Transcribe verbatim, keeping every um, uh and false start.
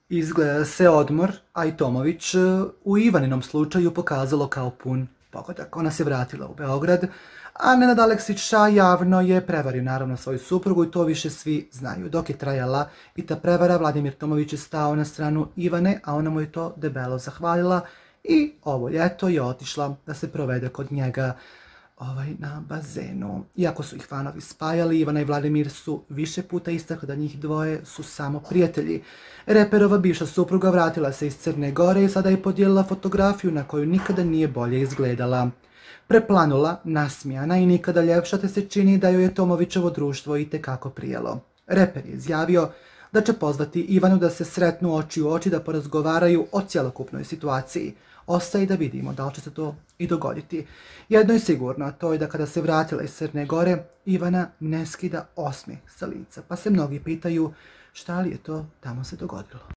Izgleda da se odmor, a i Tomović, u Ivaninom slučaju pokazalo kao pun pogodak. Ona se vratila u Beograd, a Nenad Aleksića javno je prevario naravno svoju suprugu i to više svi znaju. Dok je trajala i ta prevara, Vladimir Tomović je stao na stranu Ivane, a ona mu je to debelo zahvalila i ovo ljeto je otišla da se provede kod njega ovaj, na bazenu. Iako su ih fanovi spajali, Ivana i Vladimir su više puta istakli da njih dvoje su samo prijatelji. Reperova bivša supruga vratila se iz Crne Gore i sada je podijelila fotografiju na koju nikada nije bolje izgledala. Preplanula, nasmijana i nikada ljepša, te se čini da joj je Tomovićevo društvo itekako prijelo. Reper je izjavio da će pozvati Ivanu da se sretnu oči u oči, da porazgovaraju o cjelokupnoj situaciji. Ostaje da vidimo da li će se to i dogoditi. Jedno je sigurno, a to je da kada se vratila iz Crne Gore, Ivana ne skida osmijeh sa lica, pa se mnogi pitaju šta li je to tamo se dogodilo.